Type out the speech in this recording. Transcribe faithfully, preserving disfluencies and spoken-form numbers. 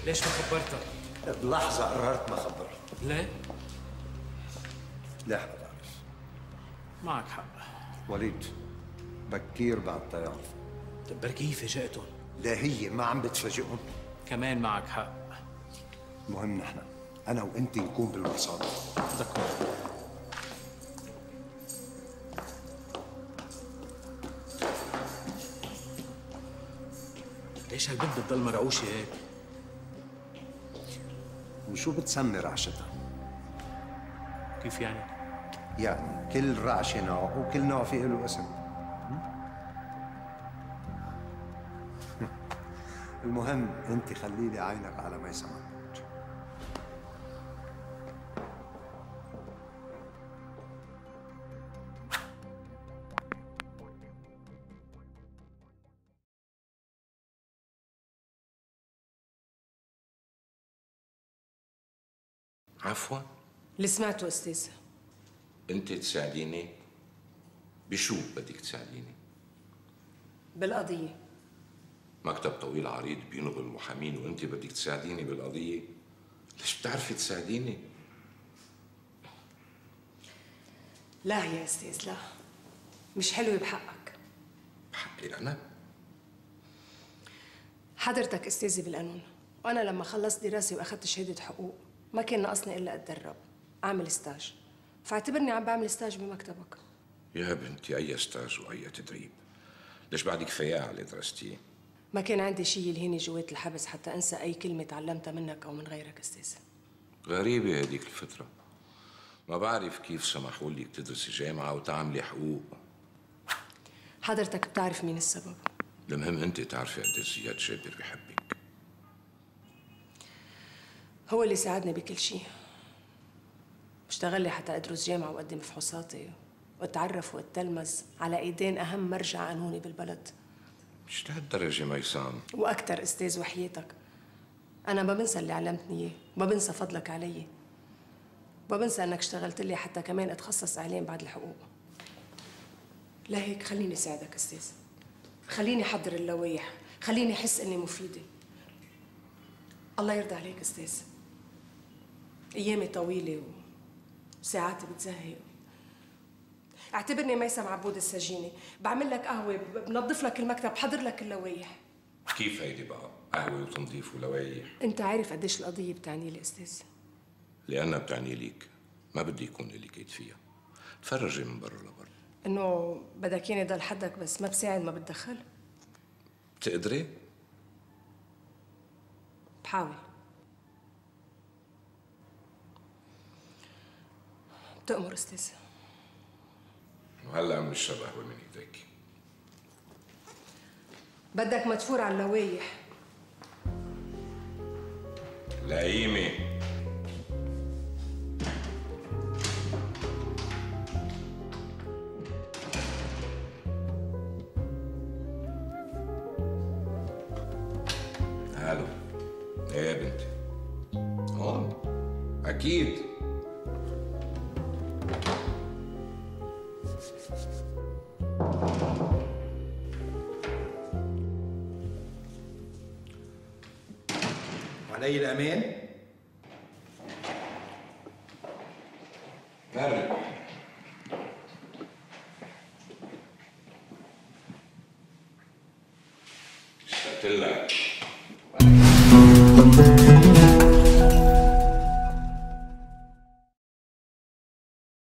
ليش ما خبرتك؟ بلحظة قررت ما خبرك. ليه؟ ليه بتعرف؟ معك حق. وليد بكير بعد تعرف. طب بركي هي فاجأتهم. لا هي ما عم بتفاجئهم. كمان معك حق. المهم نحن أنا وأنت نكون بالمصادر. دكتور. ليش هالبنت بتضل مرعوشة هيك؟ وشو بتسمي رعشتها؟ كيف يعني؟ يعني كل رعشة نوع وكل نوع فيه له اسم. المهم انت خلي لي عينك على ميسم عبود. عفوا. اللي سمعته استاذ. انت تساعديني؟ بشو بدك تساعديني؟ بالقضية. مكتب طويل عريض بينغل المحامين وانت بدك تساعديني بالقضية؟ ليش بتعرفي تساعديني؟ لا يا استاذ لا، مش حلوة بحقك. بحقي انا؟ حضرتك استاذي بالقانون، وانا لما خلصت دراسة واخذت شهادة حقوق ما كان ناقصني الا اتدرب، اعمل ستاج، فاعتبرني عم بعمل ستاج بمكتبك. يا بنتي اي ستاج واي تدريب؟ ليش بعد كفاية على اللي درستيه؟ ما كان عندي شيء يلهيني جوات الحبس حتى انسى اي كلمة تعلمتها منك او من غيرك استاذ. غريبة هديك الفترة، ما بعرف كيف سمحوا لك تدرسي جامعة وتعملي حقوق. حضرتك بتعرف مين السبب؟ المهم انت تعرفي قد زياد جابر بحبك. هو اللي ساعدني بكل شيء. اشتغل لي حتى ادرس جامعة واقدم فحوصاتي واتعرف واتلمذ على ايدين اهم مرجع قانوني بالبلد. مش لهالدرجة ميسام. واكثر استاذ وحياتك. انا ما بنسى اللي علمتني اياه، ما بنسى فضلك علي. ما بنسى انك اشتغلت لي حتى كمان اتخصص اعلام بعد الحقوق. لهيك خليني ساعدك استاذ. خليني احضر اللوايح، خليني احس اني مفيده. الله يرضى عليك استاذ. ايامي طويله وساعاتي بتزهق. اعتبرني ميسم عبود السجيني، بعمل لك قهوه، بنظف لك المكتب، بحضر لك اللوايح. كيف هيدي بقى؟ قهوه وتنظيف ولوايح؟ انت عارف قديش القضيه بتعني لي استاذ. لانها بتعني ليك، ما بدي يكون لك ايد فيها. تفرجي من برا لبرا. انه بدك ياني ضل حدك بس ما بساعد ما بتدخل؟ بتقدري؟ بحاول. بتأمر استاذ. وهلا عم نشرب قهوه من ايديك. بدك مدفور على اللوايح. لئيمه. الو. ايه يا بنتي؟ هون؟ اكيد. علي الأمان؟ مرة اشتقت لك.